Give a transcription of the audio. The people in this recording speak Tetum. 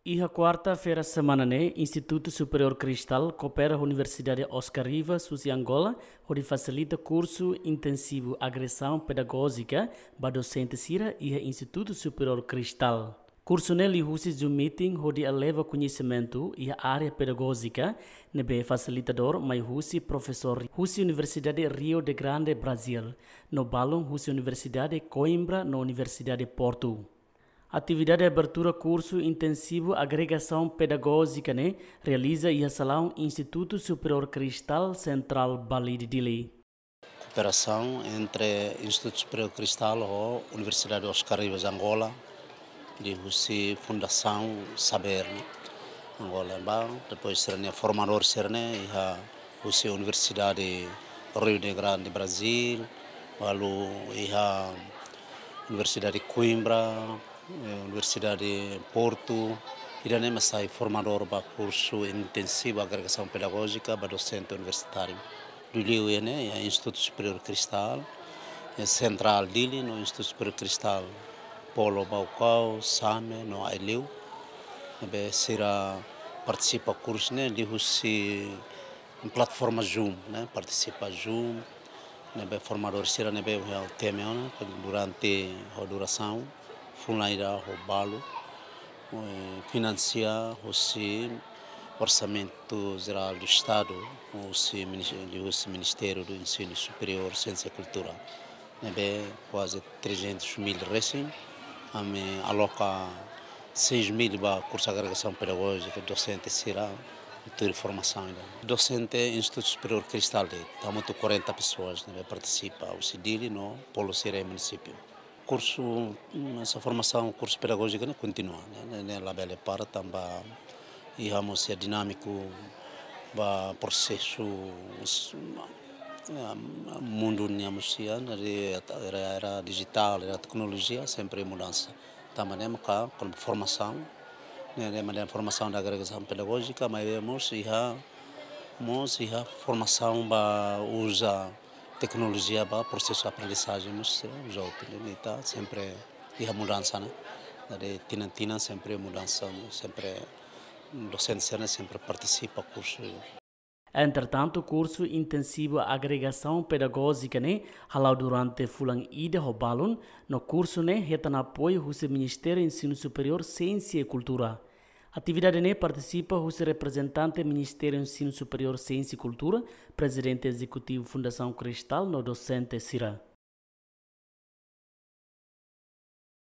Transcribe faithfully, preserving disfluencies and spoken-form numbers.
Iha kuarta-feira semana ne'e, Institutu Superiór Cristal koopera ho Universidade Oscar Rivas husi Angola, hodi fasilita kursu intensivu agregasaun pedagójika ba dosente sira iha Institutu Superiór Cristal. Kursu ne'e liuhusi Zoom meeting hodi eleva koñesimentu iha área pedagójika, ne'ebé fasilitadór mai husi profesór husi Universidade Rio de Grande Brazil, no balun husi Universidade Coimbra no Universidade Porto. Atividade abertura kursu intensivu agregasaun pedagójika ne'e realiza iha salaun Institutu Superiór Cristal Central Balide Dili. Kooperasaun entre Institutu Superiór Cristal ho Universidade Oscar Rivas Angola, liuhusi Fundasaun Saber ne'e, Angola ba, depois sira-nia formadór sira-ne'e iha husi Universidade Rio de Grande Brazil, balu iha Universidade Coimbra, eh, Universidade Porto, ida-ne'e mak sai formadór ba kursu intensivu agregasaun pedagójika ba dosente universitáriu. Liuliu iha ne'e, iha Institutu Superiór Cristal, iha Central Dili no Institutu Superiór Cristal Polo Baucau, Same no Aileu. Ne'ebé sira partisipa kursu ne'e liuhusi plataforma Zoom, ne'e, partisipa Zoom, ne'ebé formadór sira ne'ebé iha tema ne'e, durante ho durasaun fulan ida ho balu, eh, finansia husi Orsamentu Jerál do Estadu, husi minis-, husi Ministériu do Ensinu Superiór, Siénsia i Kultura. Ne'ebé kuaze trezentus mil resin, ami aloka seis mil ba kursu agregasaun pedagójika, dosente sira tuir formasaun ida. Dosente Institutu Superiór Cristal de'it, hamutuk quarenta pessoas ne'ebé partisipa, husi Dili no polo sira iha munisípiu. Kursu, mm, essa formasaun, kursu pedagójika ne'e kontinua, ne'e, ne'e, ne'e labele para tanba iha mós iha dinámiku ba prosesu, s-, eh, mundu nian mós iha, ne'e, era, era dijitál, era teknolojia, sempre mudansa. Tanba ne'e maka, kon formasaun, ne'e, ne'e, maneira formasaun da agregasaun pedagójika, maibé mós iha, mós iha formasaun ba uza teknolojia ba prosesu aprendizajen mós, eh, uza hotu, ne'e, ita sempre iha mudansa, ne'e. Jadi, tinan-tinan sempre mudansa, sempre dosente sira-ne'e sempre partisipa kursu. Entretantu, kursu intensivu agregasaun pedagójika ne'e hala'o durante fulan ida ho balun, no kursu ne'e hetan apoiu husi Ministériu Ensinu Superiór, Siénsia i Kultura. Atividade ne'e partisipa husi reprezentante Ministériu Ensinu Superiór, Siénsia i Kultura, Prezidente Ezekutivu Fundasaun Cristal no dosente sira.